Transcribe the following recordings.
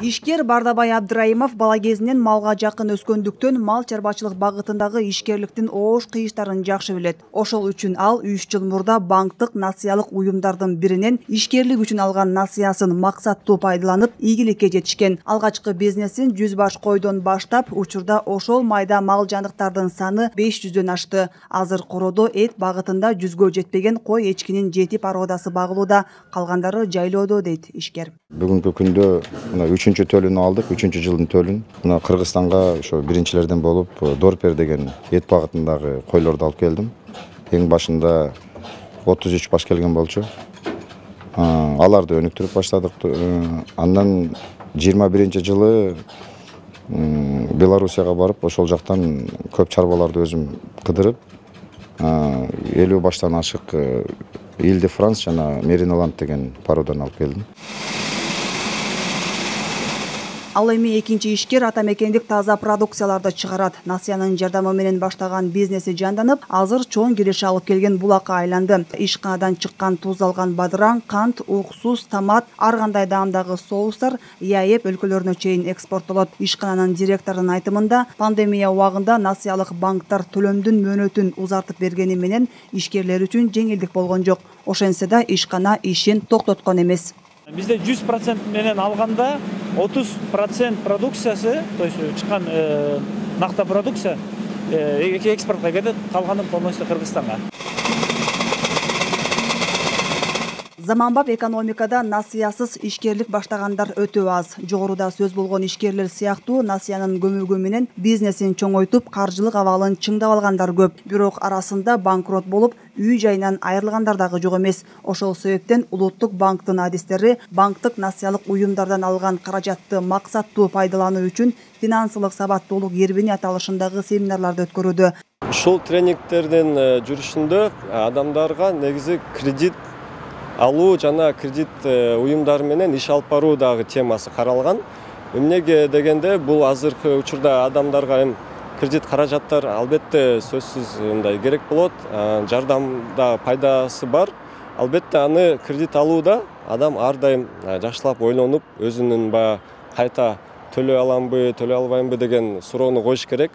Ишкер Бардабай Абдраимов бала кезинен малга жакын өскөндүктөн мал чарбачылык багытындагы ишкерликтин оош кыйыштарын жакшы билет. Ошол үчүн ал 3 жыл мурда банктык насыялык уюмдардын биринен ишкерлик үчүн алган насыясын максаттуу пайдаланып, ийгиликке жетишкен. Алгачкы бизнесин 100 баш койдон баштап, учурда ошол майда мал жаныктардын саны 500дөн ашты. Азыр короодо эт багытында 100гө жетпеген кой эчкинин 7 породасы багылууда, калгандары жайлоодо дейт ишкер. Бүгүнкү күндө мына 3-чү төлүн алдык, 3-чү жылдын төлүн. Мына Кыргызстанга ошо биринчилерден болуп Дорпер деген эт багытындагы койлорду алып келдим. Эң башында 33 баш келген болчу. Аларды өнүктүрүп баштадык. Андан 21-жылы Белоруссияга барып, ошол жактан көп чарбаларды өзүм кыдырып, 50 баштан ашык Иль-де-Франс жана Мериноланд деген породан алып келдим. Ал эми экинчи ишкер атамекендик таза продукцияларды чыгарат. Насыянын жардамы менен баштаган бизнеси жанданып, азыр чоң киреше алып келген булакка айланды. Ишканадан чыккан туздалган бадыраң, кант, уксус, томат, ар кандай даамдагы соустар ЯЭП өлкөлөрүнө чейин экспорттолот. Ишкананын директорунун айтымында, пандемия убагында насыялык банктар төлөмдүн мөөнөтүн узартып бергени менен ишкерлер үчүн жеңилдик болгон жок. Ошентсе да ишкана ишин токтоткон эмес. Бизде 100% менен алганда 30% продукциясы, то есть чыккан накта продукция экспортко кетет, калганын полностью Кыргызстанга. Заманбап экономикада насыясыз ишкерлик баштагандар өтө аз. Жогоруда сөз болгон ишкерлер сыяктуу насыянын көмөгү менен бизнесин чоңойтуп, каржылык абалын чыңдап алгандар көп. Бирок арасында банкрот болуп, үй жайынан айрылгандар дагы жок эмес. Ошол себептен Улуттук банктын адистери банктык насыялык уюмдардан алган каражатты максаттуу пайдалануу үчүн финансылык сабаттуулук эрбини аталышындагы семинарларды өткөрүүдө. Ушул тренингтердин жүрүшүндө адамдарга негизи кредит алуу жана кредит уюмдары менен иш алып баруу дагы темасы каралган. Эмнеге дегенде, бул азыркы учурда адамдарга кредит каражаттар албетте сөзсүз мындай керек болот. Жардамда пайдасы бар. Албетте аны кредит алууда адам ар дайым жакшылап ойлонуп, өзүнүн кайта төлөй аламбы, төлөй албаймбы деген суроону коюш керек.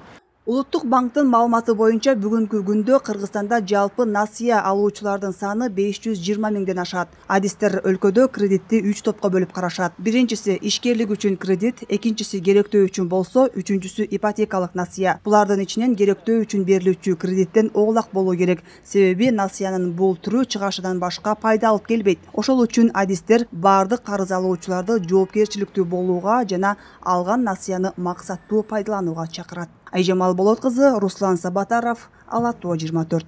Улуттук банктын маалыматы боюнча бүгүнкү күндө Кыргызстанда жалпы насыя алуучулардын саны 520 миңден ашат. Адистер өлкөдө кредитти 3 топко бөлүп карашат. Биринчиси ишкерлик үчүн кредит, экинчиси керектөө үчүн болсо, үчүнчүсү ипотекалык насыя. Булардын ичинен керектөө үчүн берилүүчү кредиттен оолак болуу керек. Себеби насыянын бул түрү чыгашынан башка пайда алып келбейт. Ошол үчүн адистер баардык карыз алуучуларды жоопкерчиликтүү болууга жана алган насыяны максаттуу пайдаланууга чакырат. Айжамал Болот кызы, Руслан Сабатаров, Ала Тоо 24.